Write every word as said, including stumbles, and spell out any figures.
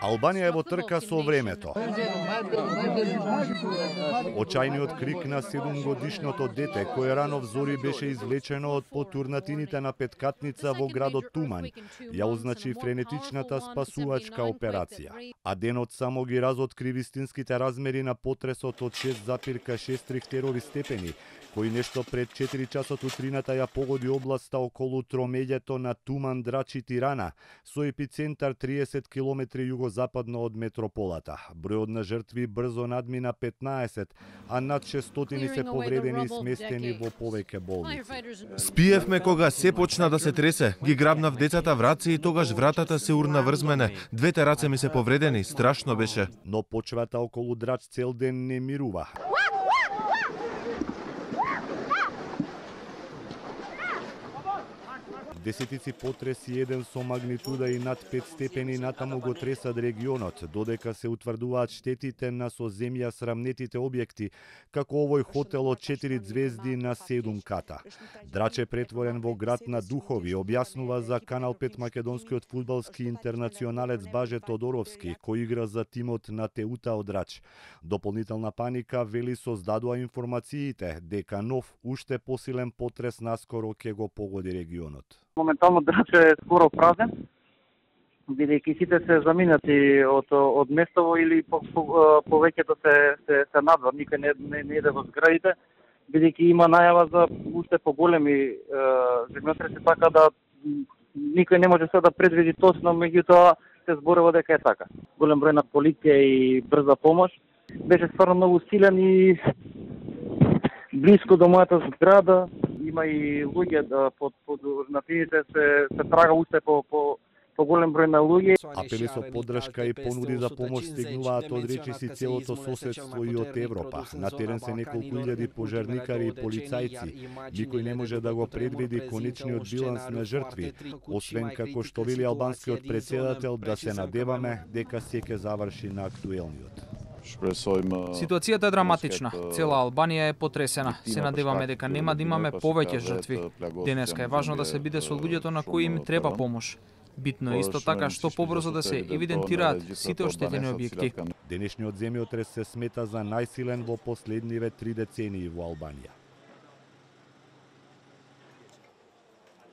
Албанија е во трка со времето. Очајниот крик на седумгодишното дете кое рано взори беше извлечено од потурнатините на петкатница во градот Туман, ја означи френетичната спасувачка операција. А денот само ги разоткри вистинските размери на потресот од шест запирка шест рихтерови степени, кој нешто пред четири часот утрината ја погоди областа околу тромеѓето на Туман, Драч и Тирана, со епицентар триесет километри југозападно од метрополата. Бројот на жртви брзо надмина петнаесет, а над шестстотини се повредени и сместени во повеќе болници. Спиевме кога се почна да се тресе, ги грабнав децата в раце и тогаш вратата се урна врз мене. Двете раце ми се повредени, страшно беше. Но почвата околу Драч цел ден не мирува. Десетици потреси, еден со магнитуда и над пет степени натаму го тресат регионот, додека се утврдуваат штетите на со земја срамнетите објекти, како овој хотел од четири звезди на седум ката. Драч е претворен во град на духови, објаснува за Канал пет македонскиот фудбалски интернационалец Баже Тодоровски, кој игра за тимот на Теута од Драч. Дополнителна паника, вели, создадува информациите дека нов, уште посилен потрес наскоро ќе го погоди регионот. Моментално Драч е скоро празен, бидејќи сите се заминати од од местово или по, по, повеќето се се, се надвор, никој не не, не иде во зградите, бидејќи има најава за уште поголеми земјотреси, така да никој не може се да предвиди точно, меѓутоа се зборува дека е така. Голем број на полиција и брза помош беше стварно многу силен и блиско до мојата зграда. Има и луѓе да под под на тините се се трага уште по по по голем број на луѓе. Апели со поддршка и понуди за помош стигнуваат од речиси целото соседство и од Европа. На терен се неколку илјади пожарникари и полицајци. Никој не може да го предвиди конечниот биланс на жртви, освен како што вели албанскиот претседател да се надеваме дека се ќе заврши на актуелниот. Ситуацијата е драматична. Цела Албанија е потресена. Се надеваме дека нема да имаме повеќе жртви. Денеска е важно да се биде со луѓето на кои им треба помош. Битно е исто така што побрзо да се евидентираат сите оштетени објекти. Денешниот земјотрес се смета за најсилен во последниве три децении во Албанија.